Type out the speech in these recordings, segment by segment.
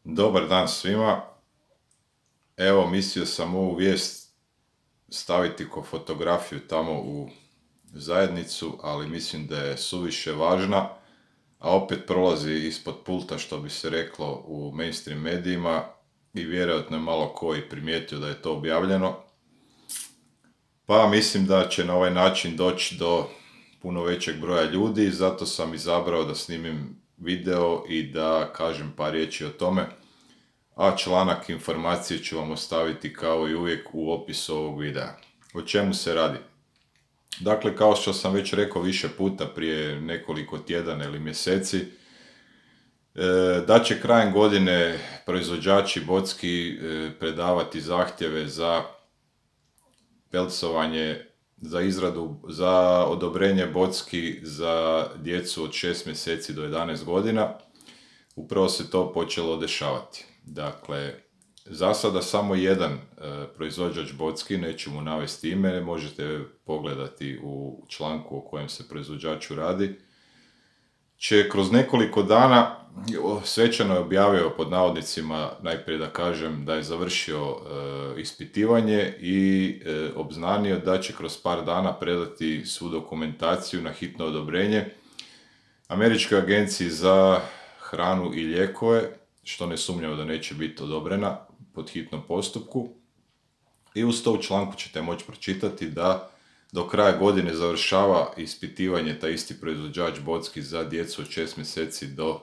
Dobar dan svima. Evo, mislio sam ovu vijest staviti ko fotografiju tamo u zajednicu, ali mislim da je suviše važna, a opet prolazi ispod pulta, što bi se reklo, u mainstream medijima i vjerojatno je malo ko i primijetio da je to objavljeno. Pa mislim da će na ovaj način doći do puno većeg broja ljudi, zato sam izabrao da snimim video i da kažem par riječi o tome, a članak informacije ću vam ostaviti kao i uvijek u opisu ovog videa. O čemu se radi? Dakle, kao što sam već rekao više puta prije nekoliko tjedana ili mjeseci, da će krajem godine proizvođači bocki predavati zahtjeve za pelcovanje, za odobrenje bocki za djecu od 6 mjeseci do 11 godina. Upravo se to počelo dešavati. Dakle, za sada samo jedan proizvođač bocki, neću mu navesti ime, možete pogledati u članku o kojem se proizvođaču radi, će kroz nekoliko dana, svečano je objavio pod navodnicima, najprije da kažem da je završio ispitivanje i obznanio da će kroz par dana predati svu dokumentaciju na hitno odobrenje Američkoj agenciji za hranu i lijekove, što ne sumnjamo da neće biti odobrena pod hitnom postupku. I uz to u članku ćete moći pročitati da do kraja godine završava ispitivanje taj isti proizvođač bocki za djecu od 6 mjeseci do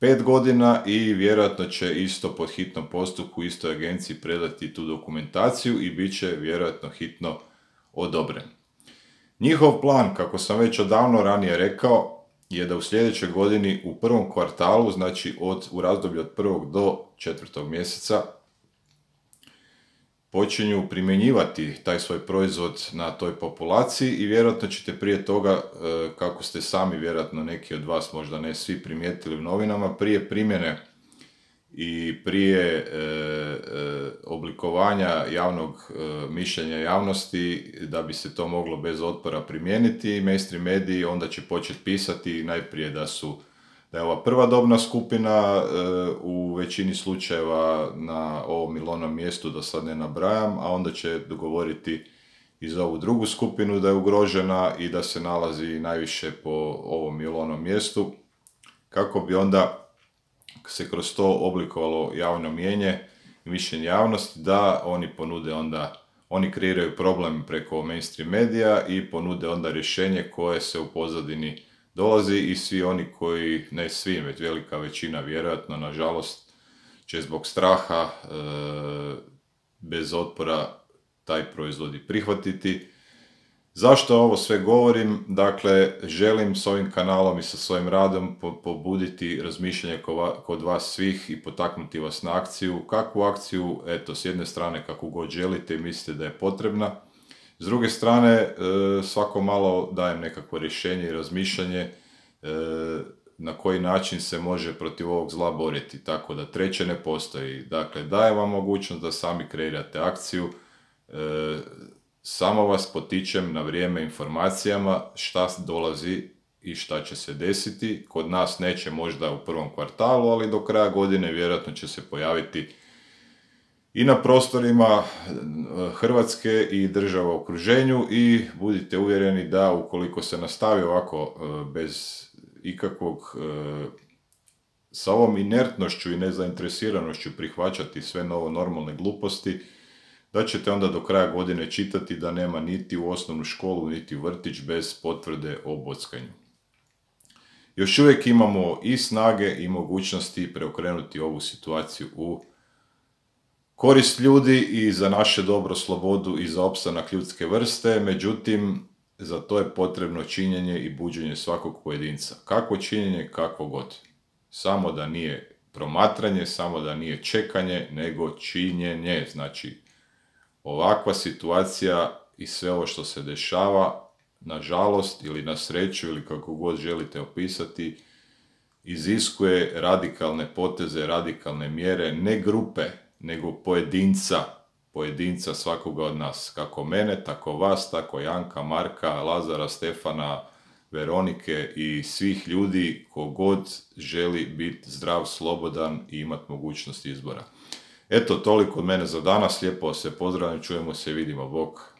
5 godina i vjerojatno će isto pod hitnom postupku istoj agenciji predati tu dokumentaciju i bit će vjerojatno hitno odobren. Njihov plan, kako sam već odavno ranije rekao, je da u sljedećoj godini u prvom kvartalu, znači u razdoblju od 1. do 4. mjeseca, počinju primjenjivati taj svoj proizvod na toj populaciji i vjerojatno ćete prije toga, kako ste sami vjerojatno neki od vas, možda ne svi, primijetili u novinama, prije primjene i prije oblikovanja javnog mišljenja javnosti, da bi se to moglo bez otpora primijeniti, mainstream mediji onda će početi pisati najprije da je ova prva dobna skupina u većini slučajeva na ovom ili onom mjestu, da sad ne nabrajam, a onda će dogovoriti i za ovu drugu skupinu da je ugrožena i da se nalazi najviše po ovom ili onom mjestu, kako bi onda se kroz to oblikovalo javno mnijenje i mišljenje javnosti, da oni ponude onda, oni kreiraju problem preko mainstream medija i ponude onda rješenje koje se u pozadini dolazi i svi oni koji, ne svi, već velika većina vjerojatno, nažalost, će zbog straha bez otpora taj proizvod i prihvatiti. Zašto ovo sve govorim? Dakle, želim s ovim kanalom i sa svojim radom pobuditi razmišljanje kod vas svih i potaknuti vas na akciju. Kakvu akciju? Eto, s jedne strane kako god želite i mislite da je potrebna. S druge strane, svako malo dajem nekakvo rješenje i razmišljanje na koji način se može protiv ovog zla boriti, tako da treće ne postoji. Dakle, dajem vam mogućnost da sami kreirate akciju, samo vas potičem na vrijeme informacijama šta dolazi i šta će se desiti. Kod nas neće možda u prvom kvartalu, ali do kraja godine vjerojatno će se pojaviti i na prostorima Hrvatske i država u okruženju i budite uvjereni da ukoliko se nastavi ovako bez ikakvog, sa ovom inertnošću i nezainteresiranošću prihvaćati sve novo normalne gluposti, da ćete onda do kraja godine čitati da nema niti u osnovnu školu, niti u vrtić bez potvrde o bockanju. Još uvijek imamo i snage i mogućnosti preokrenuti ovu situaciju u korist ljudi i za naše dobro, slobodu i za opstanak ljudske vrste, međutim, za to je potrebno činjenje i buđenje svakog pojedinca. Kakvo činjenje, kakvo god. Samo da nije promatranje, samo da nije čekanje, nego činjenje. Znači, ovakva situacija i sve ovo što se dešava, nažalost ili na sreću ili kako god želite opisati, iziskuje radikalne poteze, radikalne mjere, ne grupe, nego pojedinca svakoga od nas. Kako mene, tako vas, tako Janka, Marka, Lazara, Stefana, Veronike i svih ljudi kogod želi biti zdrav, slobodan i imati mogućnost izbora. Eto, toliko od mene za danas, lijepo se pozdravljam, čujemo se i vidimo, bok.